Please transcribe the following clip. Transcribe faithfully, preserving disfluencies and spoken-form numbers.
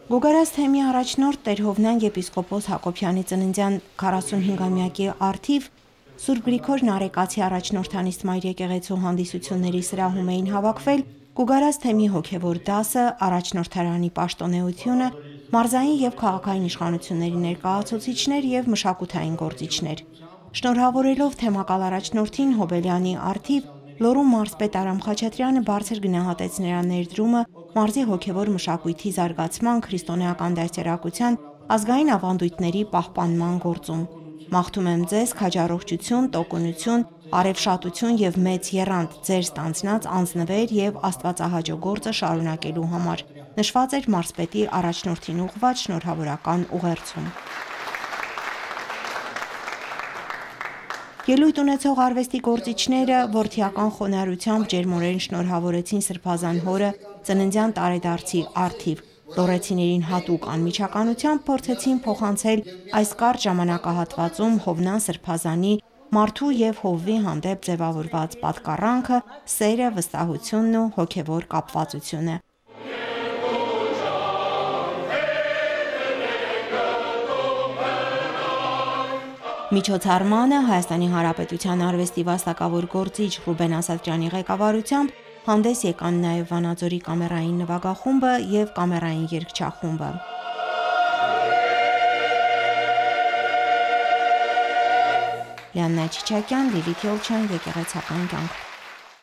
Գոգարաց թեմի առաջնորդ Տեր-Հովնան եպիսկոպոս Հակոբյանի ծննդյան քառասունհինգամյակի առթիվ Սուրբ Գրիգոր Նարեկացի առաջնորդանիստ Մայր եկեղեցու հանդիսությունների սրահում էին հավաքվել Գոգարաց թեմի հոգևոր դասը, առաջնորդարանի պաշտոնեությունը, մարզային եւ քաղաքային իշխանությունների ներկայացուցիչներ եւ մշակութային գործիչներ։ Շնորհավորելով թեմակալ առաջնորդին Հոբելյանի առթիվ Լոռու մարզպետ Արամ Խաչատրյանը բարձր գնահատեց նրա ներդրումը մարզի հոգևոր մշակույթի զարգացման, քրիստոնեական դաստիարակության, ազգային ավանդույթների պահպանման գործում։ Մաղթում եմ ձեզ քաջառողջություն, տոկունություն, արևշատություն եւ մեծ եռանդ ձեր ստանձնած անձնվեր եւ աստվածահաճո գործը շարունակելու համար, նշված էր մարզպետի առաջնորդին ուղղված շնորհավորական ուղերձում։ Ելույթ ունեցող արվեստի գործիչները որդիական խոնարհությամբ ջերմորեն շնորհավորեցին Սրբազան հորը ծննդյան տարեդարձի առթիվ, լոռեցիներին հատուկ անմիջականությամբ փորձեցին փոխանցել այս կարճ ժամանակահատվածում Հովնան Սրբազանի մարդու եւ հովվի հանդեպ ձևավորված պատկառանքը, սերը, վստահությունն ու հոգևոր կապվածությունը։ Միջոցառմանը Հայաստանի Հանրապետության արվեստի վաստակավոր գործիչ Ռուբեն Ասատրյանի ղեկավարությամբ հանդես եկան նաև Վանաձորի կամերային նվագախումբը եւ կամերային երգչախումբը։ Լիաննա Չիչակյան, Լիլիթ Յոլչյան, եկեղեցական կյանք։